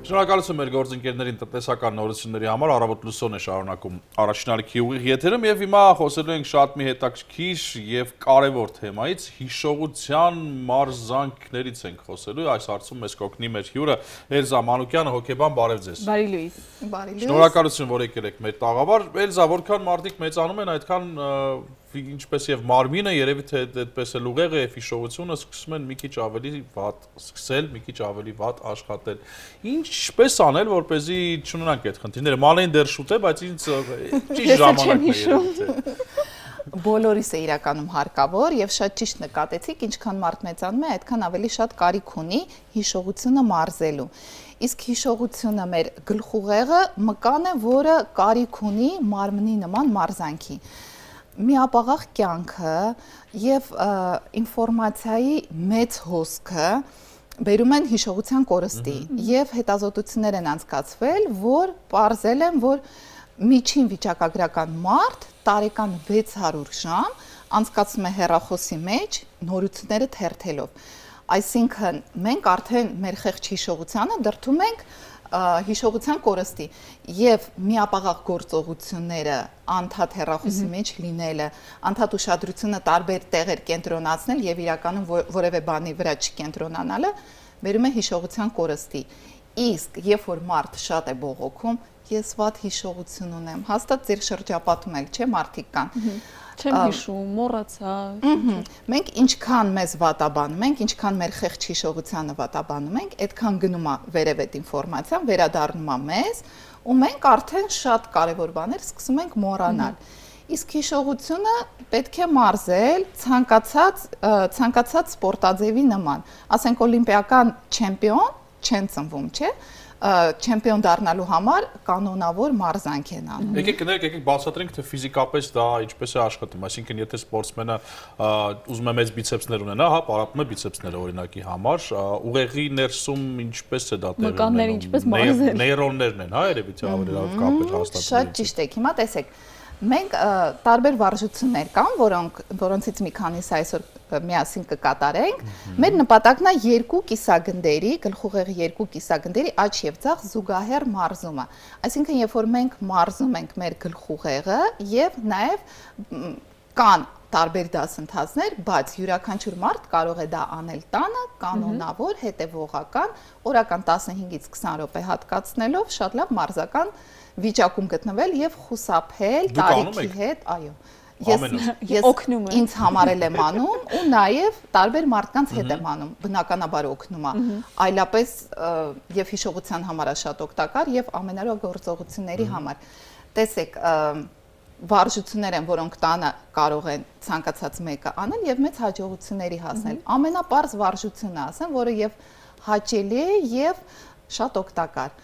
Շնորհակալություն մեր գործընկերներին տնտեսական նորությունների համար, առավոտ լուսոն է շարունակում առաջին ալիքի ուղիղ եթերում եւ հիմա խոսելու ենք շատ մի հետաքրքիր եւ կարեւոր թեմայից, հիշողության մարզանքներից ենք խոսելու, այս հարցում մեզ կօգնի մեր հյուրը Էլզա Մանուկյանը, հոգեբան, բարև ձեզ։ Բարի լույս։ Շնորհակալություն, որ եկել եք մեր տաղավար։ Էլզա, որքան մարդիկ մեծանում են, այդքան ինչպես եւ մարմինը երևի թե այդպես էլ ուղեղը եւ հիշողությունը սկսում են մի քիչ ավելի վատ սկսել, մի քիչ ավելի վատ աշխատել։ Ինչպես անել, որպեսզի չունենանք այդ խնդիրները։ Մանեն դեռ շուտ է, բայց ինձ ճիշտ ժամանակն է։ Բոլորիս է իրականում հարկավոր եւ շատ ճիշտ նկատեցիք, ինչքան մարդ մեծանում է, այդքան ավելի շատ կարիք ունի հիշողությունը մարզելու։ Իսկ հիշողությունը մեր գլխուղեղը մկան է, որը կարիք ունի մարմնի նման մարզանքի։ Միապաղաղ կյանքը եւ ինֆորմացիայի մեծ հոսքը բերում են հիշողության կորստի եւ հետազոտություններ են անցկացվել, որ պարզել են, որ միջին վիճակագրական մարդ տարեկան 600 ժամ անցկացում է հեռախոսի մեջ նորությունները թերթելով։ Այսինքն մենք արդեն մեր խեղճ հիշողությանը դրդում ենք հիշողության կորստի եւ միապաղաղ գործողությունները անդադ հեռախոսի մեջ լինելը, անդադ ուշադրությունը տարբեր տեղեր կենտրոնացնել եւ իրականում որևէ բանի վրա չկենտրոնանալը բերում է հիշողության կորստի։ Իսկ երբ որ մարդ շատ է բողոքում, ես վատ հիշողություն ունեմ, հաստատ ձեր շրջապատում էլ չէ մարդիկ կան։ Չեմ հիշում, մոռացա։ Մենք ինչքան մեզ վատաբանում ենք, ինչքան մեր խեղճ հիշողությանը վատաբանում ենք, այդքան գնում է վերև այդ ինֆորմացիան, վերադառնում է մեզ, ու մենք արդեն շատ կարևոր բաներ սկսում ենք մոռանալ։ Իսկ հիշողությունը պետք է մարզել ցանկացած սպորտաձևի նման։ Ասենք օլիմպիական չեմպիոն չեն ծնվում, չէ՞։ Չեմպիոն դառնալու համար կանոնավոր մարզանք են անում։ Եկեք բացատրենք, թե ֆիզիկապես դա ինչպես է աշխատում, այսինքն եթե սպորտսմենը ուզում է մեծ բիցեպսներ ունենա, հա, պարապում է բիցեպսները օրինակի համար, ուղեղի ներսում ինչպես է դա տեղի ունենում։ Մկանները ինչպես մարզել։ Նեյրոններն են, հա, երևի թե ավելի լավ կապեր հաստատվում։ Շատ ճիշտ եք, հիմա տեսեք, մենք տարբեր վարժություններ կան, որոնցից մի քանիսը այսօր միասին կկատարենք։ Մեր նպատակն է երկու կիսագնդերի, գլխուղեղի երկու կիսագնդերի աջ եւ ձախ զուգահեռ մարզումը։ Այսինքն, երբ որ մենք մարզում ենք մեր գլխուղեղը եւ նաեւ կան տարբեր դասընթացներ, բայց յուրաքանչյուր մարդ կարող է դա անել տանը, կանոնավոր, հետևողական, օրական 15-ից 20 րոպե հատկացնելով շատ լավ մարզական վիճակում գտնվել եւ խուսափել տարիքի հետ, այո։ Ես օգնում եմ։ Ինձ համարել եմ անում ու նաև տարբեր մարդկանց հետ եմ անում, բնականաբար օգնում է։ Այլապես եւ հիշողության համար է շատ օգտակար եւ ամենօրյա գործողությունների համար։ Տեսեք, վարժություններ են, որոնք տանը կարող են ցանկացած մեկը անել եւ մեծ հաջողությունների հասնել։ Ամենապարզ վարժությունը ասեմ, որը եւ հաճելի է եւ շատ օգտակար։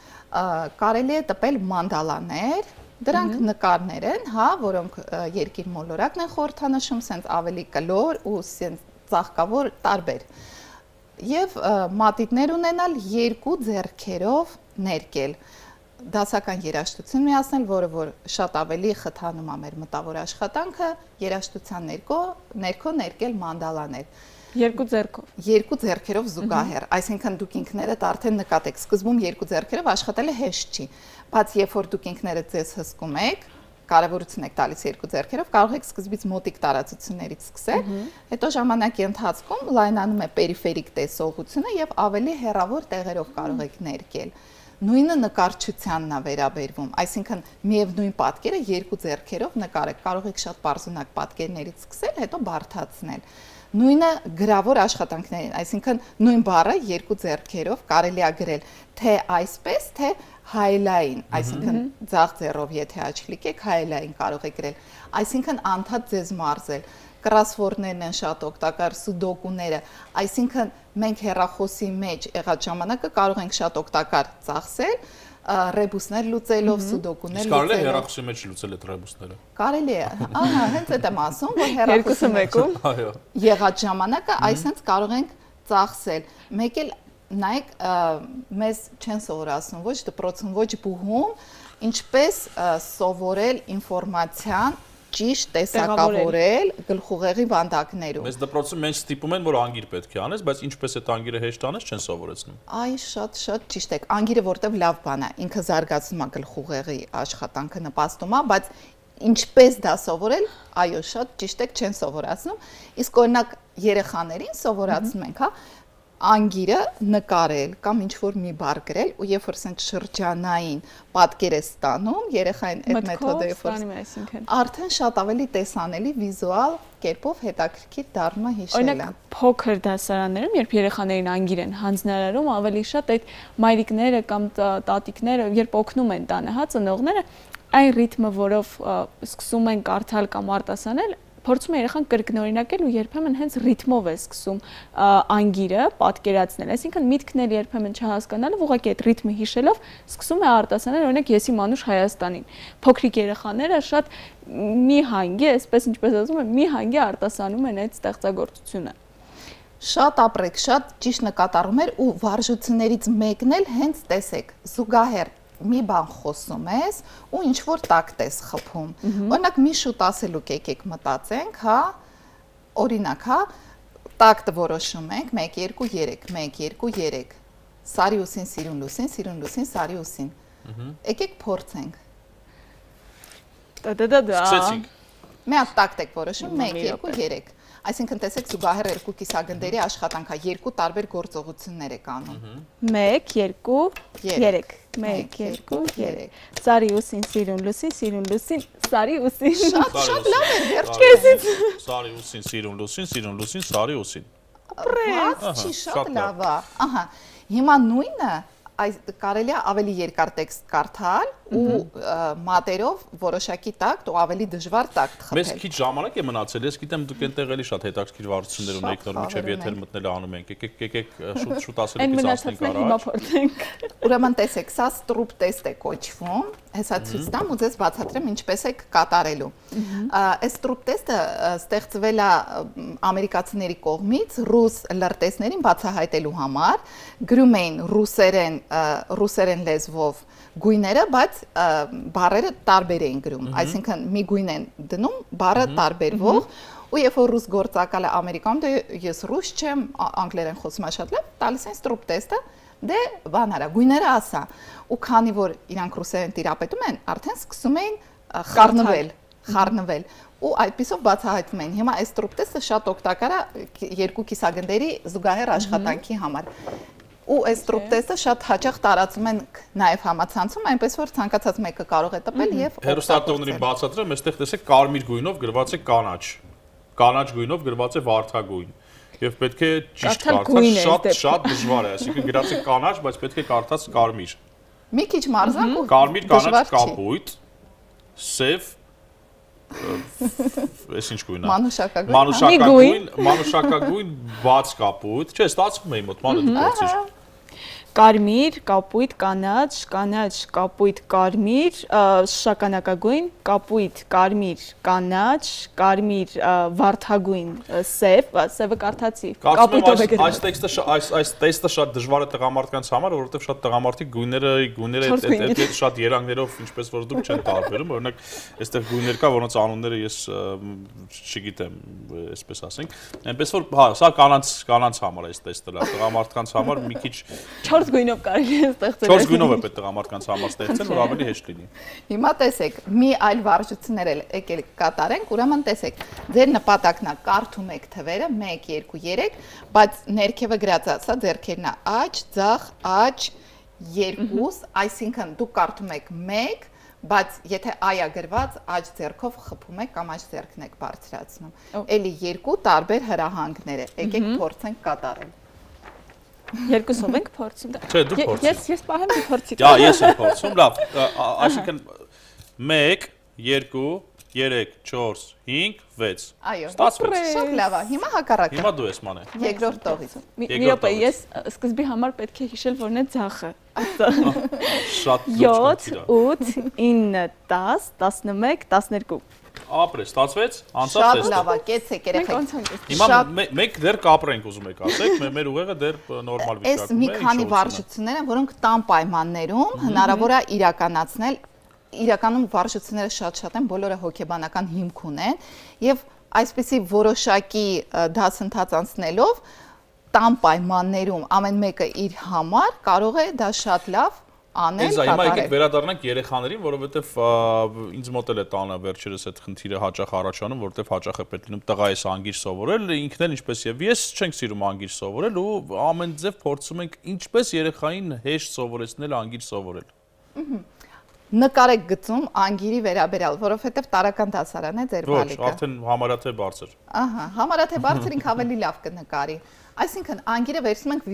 Կարելի է տպել մանդալաներ, դրանք նկարներ են, հա, որոնք երկիր մոլորակն են խորհրդանշում, սենց ավելի կլոր ու սենց ծաղկավոր տարբեր։ Եվ մատիտներ ունենալ երկու ձեռքերով ներկել։ Դասական երաժշտություն միացնել, որը որ շատ ավելի խթանում է մեր մտավոր աշխատանքը, երաժշտության ներքո ներկել մանդալաներ։ Երկու ձեռքով։ Երկու ձեռքերով զուգահեռ, այսինքն դուք ինքներդ արդեն նկատեք, սկզբում երկու ձեռքերով աշխատելը հեշտ չի, բայց երբ որ դուք ինքներդ ձեզ հսկում եք, կարևորություն եք տալիս երկու ձեռքերով, կարող եք սկզբից մոտիկ տարածություններից սկսել, հետո ժամանակի ընթացքում լայնանում է պերիֆերիկ տեսողությունը եւ ավելի հեռավոր տեղերով կարող եք ներկել։ Նույնը նկարչությանն է վերաբերվում, այսինքն միևնույն պատկերը երկու ձեռքերով նկարեք, կարող եք շատ պարզունակ պատկերներից սկսել, հետո բարդացնել։ Նույնը գրավոր աշխատանքներին, այսինքն նույն բառը երկու ձեռքերով կարելի է գրել թե այսպես, թե հայլային, այսինքն ձախ ձեռով եթե աչ կլիկեք, հայլային կարող եք գրել, այսինքն անդադ ձեզ մարզել։ Կրոսվորդներն են շատ օգտակար, սուդոկուները, այսինքն մենք հեռախոսի մեջ եղած ժամանակը կարող ենք շատ օգտակար ծախսել, ռեբուսներ լուծելով, սուդոկուներ լուծելով։ Իսկ կարելի է հեռախոսի մեջ լուծել այդ ռեբուսները։ Կարելի է, ահա, հենց այդ եմ ասում, որ հեռախոսի մեջ եղած ժամանակը այսպես կարող ենք ծախսել։ Մեկ էլ նայեք, մեզ չեն սովորացնում ոչ դպրոցում, ոչ բուհում, ինչպես սովորել ինֆորմացիան ճիշտ տեսակավորել գլխուղեղի վանդակներում։ Մեզ դպրոցում մենք ստիպում են, որ անգիր պետք է անես, բայց ինչպես այդ անգիրը հեշտ անես, չեն սովորեցնում։ Այ շատ ճիշտ եք։ Անգիրը որտեվ լավ բան է, ինքը զարգացնում է գլխուղեղի աշխատանքը, նպաստում է, բայց ինչպես դա սովորել, այո, շատ ճիշտ եք, չեն սովորացնում։ Իսկ օրինակ երեխաներին սովորացնում ենք, հա, անգիրը նկարել կամ ինչ-որ մի բառ գրել ու երբ որ ասենք շրջանային պատկեր է ստանում, երեխային այդ մեթոդով արդեն շատ ավելի տեսանելի վիզուալ կերպով հետաքրքիր դառնում է հիշելը։ Օրինակ փոքր դասարաններում, երբ երեխաներին անգիր են հանձնարարում, ավելի շատ այդ մայրիկները կամ տատիկները, երբ օգնում են տանը, հա, ծնողները, այն ռիթմը, որով սկսում են կարդալ կամ արտասանել, փորձում է երեխան կրկնօրինակել ու երբեմն հենց ռիթմով է սկսում անգիրը պատկերացնել, այսինքն միտքն էլ երբեմն չհասկանալով, ուղղակի այդ ռիթմը հիշելով սկսում է արտասանել, օրինակ եսի մանուշ Հայաստանին։ Փոքրիկ երեխաները շատ մի հանգի, այսպես ինչպես ասում են, մի հանգի արտասանում են այդ ստեղծագործությունը։ Շատ ապրեք, շատ ճիշտ նկատառում էր ու վարժություններից մեկն էլ հենց տեսեք, զուգահեռ մի բան խոսում ես ու ինչ որ տակտ ես խփում։ Օրինակ մի շուտ ասելու եկեք մտածենք, հա, օրինակ, հա, տակտը որոշում ենք 1 2 3, 1 2 3։ Սարի ուսին, սիրուն լուսին, սիրուն լուսին, սարի ուսին։ Եկեք փորձենք։ Սկսեցինք։ Մի հատ տակտ եք որոշում 1 2 3։ Այսինքն տեսեք զուգահեռ երկու կիսագնդերի աշխատանքա, երկու տարբեր գործողություններ եք անում։ 1 2 3 1 2 3 Սարի ուսին, սիրուն լուսին, սարի ուսին։ Շատ լավ է, վերջերս։ Սարի ուսին, սիրուն լուսին, սարի ուսին։ Չի շատ լավ է։ Ահա, հիմա նույնը այս կարելի է ավելի երկար տեքստ կարդալ ու մատերով որոշակի տակտ ու ավելի դժվար տակտ խփել։ Մեզ քիչ ժամանակ է մնացել, ես գիտեմ դուք այնտեղ էլի շատ հետաքրքիր վարություններ ունեք, նոր միջև եթեր մտնել անում ենք, եկեք շուտ ասելիքից ասենք առաջ։ Ուրեմն տեսեք, սա ստրուպ տեստ է կոչվում, հեսա ցույց տամ ու ձեզ բացատրեմ ինչպես եք կատարելու։ Այս ստրուպ տեստը ստեղծվել է ամերիկացիների կողմից ռուս լրտեսներին բացահայտելու համար, գրում էին ռուսերեն լեզվով գույները, բայց բառերը տարբեր էին գրում, այսինքն մի գույն են դնում, բառը տարբերվող, ու երբ որ ռուս գործակալը Ամերիկայում, դե ես ռուս չեմ, անգլերեն խոսում եմ շատ լավ, տալիս են ստրուպ տեստը, դե բան արա, գույները ասա, ու քանի որ իրանք ռուսերեն տիրապետում են, արդեն սկսում էին խառնվել, ու այդպիսով բացահայտվում են։ Հիմա այս ստրուպ տեստը շատ օգտակար է երկու կիսագնդերի զուգահեռ աշխատանքի համար։ Ու այս ստրուպ տեստը շատ հաճախ տարածում են նաև համացանցում, այնպես որ ցանկացած մեկը կարող է տպել եւ հերոստատողներին բացատրեմ, այստեղ տեսեք կարմիր գույնով գրված է կանաչ, կանաչ գույնով գրված է վարդագույն եւ պետք է ճիշտ կարդալ, շատ դժվար է, այսինքն գրած է կանաչ, բայց պետք է կարդաց կարմիր։ Մի քիչ մարզանք ու կարմիր, կանաչ, կապույտ, սև, այս ինչ գույն է։ Մանուշակագույն, բաց կապույտ, չէ, ստացվում է իմ մոտ, մանու դու փորձիր։ Կարմիր, կապույտ, կանաչ, կանաչ, կապույտ, կարմիր, շագանակագույն, կապույտ, կարմիր, կանաչ, կարմիր, վարդագույն, սև, սևը կարդացի։ Կապույտով է գրված։ Այս տեստը շատ դժվար է տղամարդկանց համար, որովհետև շատ տղամարդիկ գույները շատ երանգներով, ինչպես որ դուք չեն տարբերում, օրինակ այստեղ գույներ կա, որոնց անունները ես չգիտեմ, այսպես ասենք, այնպես որ հա, սա կանանց համար է այս տեստը, տղամարդկանց համար մի քիչ 4 գույնով կարելի է ստեղծել։ 4 գույնով է պետք տղամարդկանց համար ստեղծել, որ ավելի հեշտ լինի։ Հիմա տեսեք, մի այլ վարժություններ էլ եկել կատարենք, ուրեմն տեսեք, ձեր նպատակն է կարդում եք թվերը 1 2 3, բայց ներքևը գրած է, սա ձեռքերն է, աջ, ձախ, աջ, 2, այսինքն դուք կարդում եք 1, բայց եթե այա գրված աջ ձեռքով խփում եք կամ աջ ձեռքն եք բարձրացնում։ Էլի երկու տարբեր հրահանգներ է, եկեք փորձենք կատարել։ Երկուսով ենք փորձում։ Չէ, դու փորձիր։ Ես պահեմ դու փորձի։ Դա ես եմ փորձում, լավ, այսինքն 1 2 3 4 5 6 Այո, ստացվեց։ շատ լավ է, հիմա հակառակը։ Հիմա դու ես մանե։ Երկրորդ տողից։ Մի րոպե, ես սկզբի համար պետք է հիշել որն է ձախը։ Շատ 7 8 9 10 11 12 Ապրես, ստացվեց, անցավ Շատ տեստը։ լավ է, կեցեք երեխեք։ Հիմա մենք դեռ կապրենք ուզում եք ասեք, մեր ուղեղը դեռ նորմալ վիճակում է։ Այս մի քանի վարժություններ են, որոնք տան պայմաններում հնարավոր է իրականացնել իրականում վարժությունները շատ են, բոլորը հոգեբանական հիմք ունեն եւ այսպեսի որոշակի դասընթաց անցնելով տան պայմաններում ամեն մեկը իր համար կարող է դա շատ լավ անել, կատարել։ Հիմա եկեք վերադառնանք երեխաներին, որովհետև ինձ մոտ էլ է տանը վերջերս այդ խնդիրը հաճախ առաջանում, որովհետև հաճախ է պետք լինում տղայիս անգիր սովորել, ինքն էլ ինչպես եւ ես չենք սիրում անգիր սովորել ու ամեն ձև փորձում ենք ինչպես երեխային հեշտ սովորեցնել անգիր սովորել։ Նկարեք գծում անգիրի վերաբերյալ, որովհետև տարական դասարան է ձեր բալիկը։ Ոչ, արդեն համարյա թե բարձր։ Ահա, համարյա թե բարձր ինք ավելի լավ կնկարի։ Այսինքն անգիրը վերցնում ենք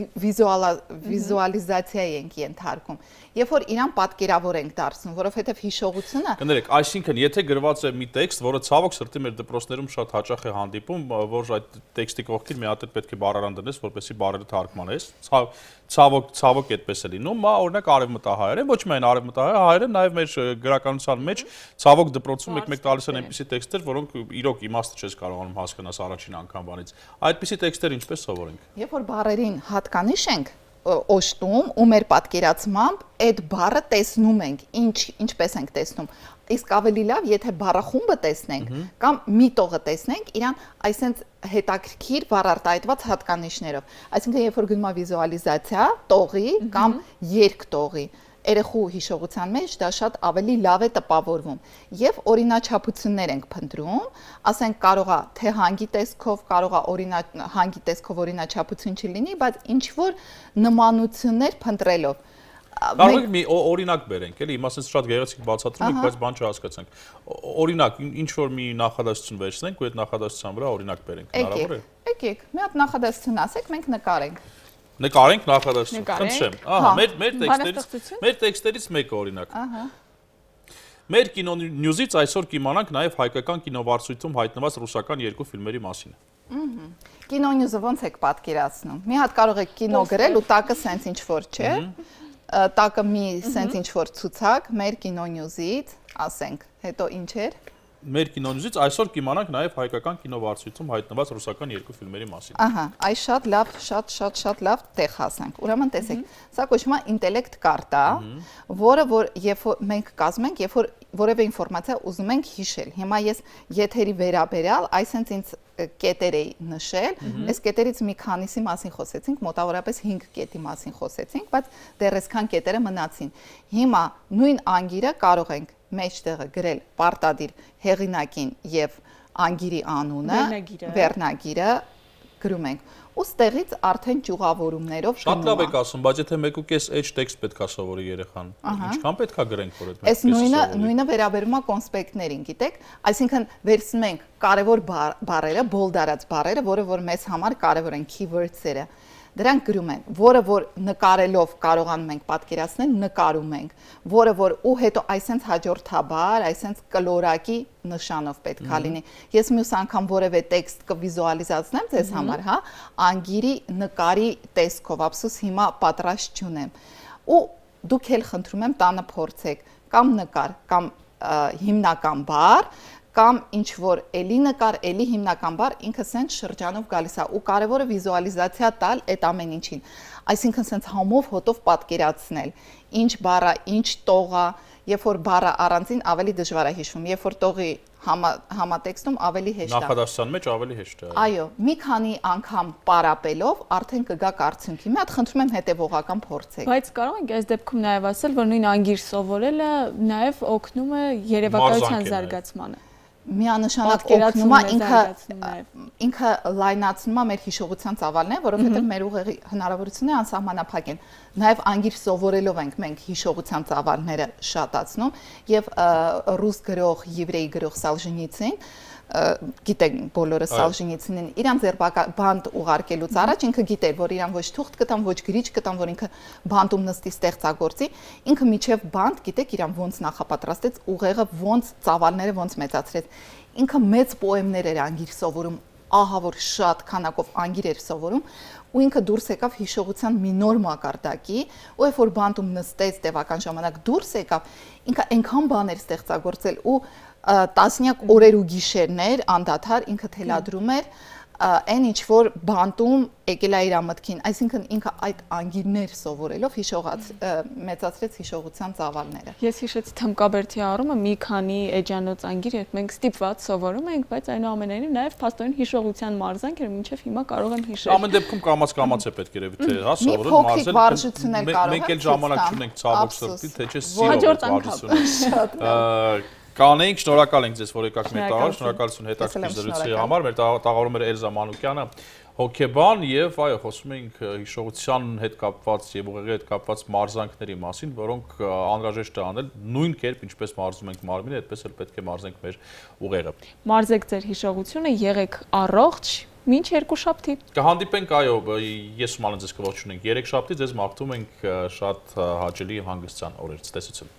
վիզուալիզացիայի ենք ենթարկում, երբ որ իրան պատկերավոր ենք դարձնում, որովհետև հիշողությունը Կներեք, այսինքն եթե գրված է մի տեքստ, որը ցավոք սրտի մեր դպրոցներում շատ հաճախ է հանդիպում, որ այդ տեքստի կողքին մի հատ պետք է բառարան դնես, որպեսզի բառերը թարգմանես, ցավոք այդպես է լինում, օրինակ արևմտահայերեն, ոչ միայն արևմտահայերեն, նաև մեր գրականության մեջ ցավոք դպրոցում մեկ տալիս են այնպիսի տեքստեր, որոնք իրոք իմաստը չես կարողանում հասկանալ առաջին անգամվանից։ Այդպիսի տեքստեր ինչպես սովորենք։ Երբ որ բառերին հատկանիշ ենք օժտում ու մեր պատկերացմամբ այդ բառը տեսնում ենք, ինչպես ենք տեսնում։ Իսկ ավելի լավ, եթե բառախումբը տեսնենք կամ միտողը տեսնենք, իրան այսենց հետաքրքիր բառարտահայտված հատկանիշներով։ Այսինքն, երբ որ գնում է վիզուալիզացիա, տողի կամ երկտողի, երեխու հիշողության մեջ դա շատ ավելի լավ է տպավորվում եւ օրինաչափություններ ենք փնտրում, ասենք կարող է թե հանգի տեսքով, կարող է հանգի տեսքով օրինաչափություն չլինի, բայց ինչ որ նմանություններ փնտրելով Կարող եք մի օրինակ բերենք, էլի, հիմա ասես շատ գեղեցիկ բացատրում եք, բայց բան չհասկացանք։ Օրինակ, ինչ որ մի նախադասություն վերցնենք ու այդ նախադասության վրա օրինակ բերենք, հնարավոր է։ Եկեք, մի հատ նախադասություն ասեք, մենք նկարենք։ Նկարենք նախադասություն, խնդրեմ։ Ահա, մեր տեքստերից մեկը օրինակ։ Ահա։ Մեր կինոնյուզից այսօր կիմանանք նաև հայկական կինովարսույթում հայտնված ռուսական երկու ֆիլմերի մասին։ Կինոնյուզը ոնց եք պատկերացնում։ Մի հատ կարող եք կինո գրել ու տակը սենց ինչ որ չէ։ Տակը մի սենց ինչ որ ցուցակ, մեր կինոնյուզից, ասենք, հետո ինչ էր։ Մեր կինոնյուզից այսօր կիմանանք նաև հայկական կինովարսույթում հայտնված ռուսական երկու ֆիլմերի մասին։ Ահա, այս շատ լավ, շատ լավ տեղ հասանք։ Ուրեմն տեսեք, սա կոչվում է ինտելեկտ կարտա, որը որ երբ մենք կազմում ենք, երբ որ որևէ ինֆորմացիա ուզում ենք հիշել։ Հիմա ես եթերի վերաբերյալ, այսինքն ինձ կետեր էի նշել, այս կետերից մի քանիսի մասին խոսեցինք, մոտավորապես 5 կետի մասին խոսեցինք, բայց դեռ այսքան կետերը մնացին։ Հիմա նույն անգիրը կարող ենք մեջտեղը գրել պարտադիր հեղինակին եւ անգիրի անունը, վերնագիրը գրում ենք։ Ու ստեղից արդեն ճյուղավորումներով Շատ լավ եք ասում, բայց եթե 1.5 տեքստ պետքա սովորի երեխան, ինչքան պետքա գրենք, որ այդ 1.5 նույնը վերաբերում է կոնսպեկտներին, գիտեք, այսինքն վերցնում ենք կարևոր բառերը, բոլդարած բառերը, որը որ մեզ համար կարևոր են keywords-երը։ Դրանք գրում են, որը որ նկարելով կարողանում ենք պատկերացնել, նկարում ենք, որը որ ու հետո այսենց հաջորդաբար, այսենց կլորակի նշանով պետքա լինի։ Ես մյուս անգամ որևէ տեքստ կվիզուալիզացնեմ ձեզ համար, հա, անգիրի նկարի տեսքով, ափսոս հիմա պատրաստ չունեմ։ Ու դուք էլ խնդրում եմ տանը փորձեք կամ նկար, կամ հիմնական բառ, կամ ինչ որ էլի նկար, էլի հիմնական բառ, ինքը սենց շրջանով գալիս է ու կարևորը վիզուալիզացիա տալ այդ ամեն ինչին։ Այսինքն սենց համով հոտով պատկերացնել, ինչ բառը, ինչ տողը, երբ որ բառը առանձին ավելի դժվար է հիշվում, երբ որ տողի համատեքստում ավելի հեշտ է։ Նախադասության մեջ ավելի հեշտ է։ Այո, մի քանի անգամ պարապելով արդեն կգաք արդյունքի։ Մի հատ խնդրում եմ հետևողական փորձեք։ Բայց կարող ենք այս դեպքում նաև ասել, որ նույն անգիր սովորելը նաև օգնում է երևակայության զարգացմանը։ Միանշանակ օգնում է ինքը լայնացնում է մեր հիշողության ծավալները, որովհետև մեր ուղեղի հնարավորությունները անսահմանափակ են։ Նաև անգիր սովորելով ենք մենք հիշողության ծավալները շատացնում եւ ռուս գրող, եվրեյ գրող Սալժենիցին գիտեք բոլորը Սալժենիցինին իրան ձերբակալբանդ ուղարկելուց առաջ ինքը գիտեր, որ իրան ոչ թուղթ կտան, ոչ գրիչ կտան, որ ինքը բանտում նստի ստեղծագործի, ինքը միջև բանտ, գիտեք, իրան ոնց նախապատրաստեց, ուղեղը ոնց ծավալները ոնց մեծացրեց։ Ինքը մեծ պոեմներ էր անգիր սովորում, ահա որ շատ քանակով անգիր էր սովորում, ու ինքը դուրս եկավ հիշողության մի նոր մակարդակի, ու երբ որ բանտում նստեց տևական ժամանակ դուրս եկավ, ինքը այնքան բաներ ստեղծագործել ու տասնյակ օրեր ու գիշերներ անդադար ինքը թելադրում էր այն ինչ որ բանտում եկել է իր ամտքին, այսինքն ինքը այդ անգիրներ սովորելով մեծացրեց հիշողության ծավալները։ Ես հիշեցի Թմկաբերդի առումը մի քանի էջանոց անգիր, երբ մենք ստիպված սովորում ենք, բայց այնուամենայնիվ նաև փաստորեն հիշողության մարզանք էր, մինչև հիմա կարող եմ հիշել։ Ամեն դեպքում կամաց է պետք երևի թե հա սովորել մարզել։ Մենք էլ ժամանակ չունենք ցավոք սրտի, թե չէ հաջորդ վարժությունը։ Կանենք, շնորհակալ ենք ձեզ, որ եկաք մեր տաղար, շնորհակալություն հետաքրքիր զրույցի համար։ Մեր տաղավարում էր Էլզա Մանուկյանը, հոգեբան, եւ այո, խոսում ենք հիշողության հետ կապված եւ ուղեղի հետ կապված մարզանքների մասին, որոնք անհրաժեշտ է անել նույն կերպ, ինչպես մարզում ենք մարմինը, այդպես էլ պետք է մարզենք մեր ուղեղը։ Մարզեք ձեր հիշողությունը, եղեք առողջ, մինչ երկուշաբթի։ Կհանդիպենք, այո, ես ուսման ձեզ կողջունենք 3 շաբթի, ձեզ մաղթում ենք շատ հաճելի հանգստյան օրեր, ցտեսություն։